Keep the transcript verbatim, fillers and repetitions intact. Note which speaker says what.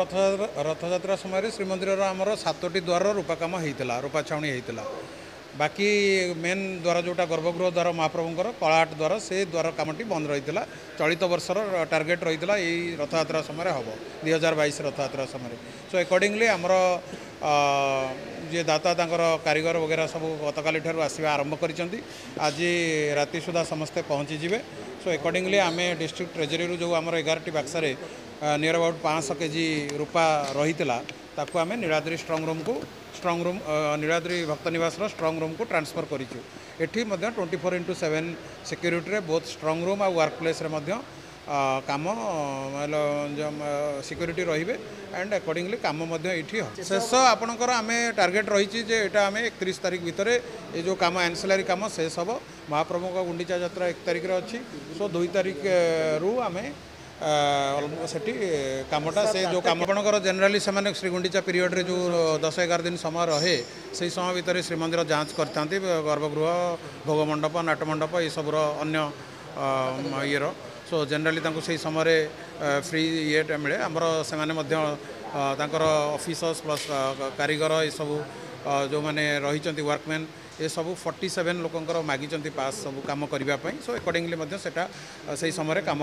Speaker 1: ରଥଯାତ୍ରା ରଥଯାତ୍ରା ସମୟରେ ଶ୍ରୀମନ୍ଦିରର ଆମର ସାତୋଟି ଦ୍ୱାରର ରୂପା କାମ ହେଇଥିଲା, ରୂପା ଛାଉଣି ହେଇଥିଲା। ବାକି ମେନ୍ ଦ୍ୱାର ଯେଉଁଟା ଗର୍ଭଗୃହ ଦ୍ୱାର, ମହାପ୍ରଭୁଙ୍କର କଳାହାଟ ଦ୍ୱାର, ସେ ଦ୍ୱାର କାମଟି ବନ୍ଦ ରହିଥିଲା। ଚଳିତ ବର୍ଷର ଟାର୍ଗେଟ୍ ରହିଥିଲା ଏଇ ରଥଯାତ୍ରା ସମୟରେ ହେବ, ଦୁଇ ହଜାର ବାଇଶ ରଥଯାତ୍ରା ସମୟରେ। ସୋ ଏକର୍ଡ଼ିଂଲି ଆମର ଯିଏ ଦାତା, ତାଙ୍କର କାରିଗର ବଗେରା ସବୁ ଗତକାଲି ଠାରୁ ଆସିବା ଆରମ୍ଭ କରିଛନ୍ତି। ଆଜି ରାତି ସୁଦ୍ଧା ସମସ୍ତେ ପହଞ୍ଚିଯିବେ। ସୋ ଏକର୍ଡ଼ିଂଲି ଆମେ ଡିଷ୍ଟ୍ରିକ୍ଟ ଟ୍ରେଜେରୀରୁ ଯେଉଁ ଆମର ଏଗାରଟି ବାକ୍ସରେ ନିୟର ଆବାଉଟ୍ ପାଞ୍ଚଶହ କେଜି ରୂପା ରହିଥିଲା, ତାକୁ ଆମେ ନୀଳାଦ୍ରି ଷ୍ଟ୍ରଙ୍ଗ ରୁମ୍କୁ, ଷ୍ଟ୍ରଙ୍ଗ ରୁମ୍ ନୀଳାଦ୍ରି ଭକ୍ତ ନିବାସର ଷ୍ଟ୍ରଙ୍ଗ ରୁମ୍କୁ ଟ୍ରାନ୍ସଫର୍ କରିଛୁ। ଏଠି ମଧ୍ୟ ଟ୍ୱେଣ୍ଟି ଫୋର୍ ଇଣ୍ଟୁ ସେଭେନ୍ ସିକ୍ୟୁରିଟିରେ ବୋଥ୍ ଷ୍ଟ୍ରଙ୍ଗ ରୁମ୍ ଆଉ ୱାର୍କ ପ୍ଲେସ୍ରେ ମଧ୍ୟ କାମ, ସିକ୍ୟୁରିଟି ରହିବେ ଆଣ୍ଡ ଆକର୍ଡ଼ିଂଲି କାମ ମଧ୍ୟ ଏଇଠି ହେବ। ଶେଷ ଆପଣଙ୍କର ଆମେ ଟାର୍ଗେଟ୍ ରହିଛି ଯେ ଏଇଟା ଆମେ ଏକତିରିଶ ତାରିଖ ଭିତରେ ଏ ଯେଉଁ କାମ, ଆନ୍ସିଲାରୀ କାମ ଶେଷ ହେବ। ମହାପ୍ରଭୁଙ୍କ ଗୁଣ୍ଡିଚା ଯାତ୍ରା ଏକ ତାରିଖରେ ଅଛି। ସୋ ଦୁଇ ତାରିଖରୁ ଆମେ ସେଠି କାମଟା, ସେ ଯେଉଁ କାମ ଆପଣଙ୍କର ଜେନେରାଲି ସେମାନେ ଶ୍ରୀଗୁଣ୍ଡିଚା ପିରିୟଡ଼ରେ ଯେଉଁ ଦଶ ଏଗାର ଦିନ ସମୟ ରହେ, ସେଇ ସମୟ ଭିତରେ ଶ୍ରୀମନ୍ଦିର ଯାଞ୍ଚ କରିଥାନ୍ତି, ଗର୍ଭଗୃହ, ଭୋଗମଣ୍ଡପ, ନାଟମଣ୍ଡପ ଏସବୁର ଅନ୍ୟ ଇଏର। ସୋ ଜେନେରାଲି ତାଙ୍କୁ ସେଇ ସମୟରେ ଫ୍ରି ଇଏଟା ମିଳେ। ଆମର ସେମାନେ ମଧ୍ୟ ତାଙ୍କର ଅଫିସର୍ସ ପ୍ଲସ୍ କାରିଗର ଏସବୁ ଯେଉଁମାନେ ରହିଛନ୍ତି, ୱାର୍କମ୍ୟାନ୍ ଏସବୁ ଫର୍ଟି ସେଭେନ୍ ଲୋକଙ୍କର ମାଗିଛନ୍ତି ପାସ୍ ସବୁ କାମ କରିବା ପାଇଁ। ସୋ ଏକର୍ଡ଼ିଂଲି ମଧ୍ୟ ସେଇଟା ସେଇ ସମୟରେ କାମ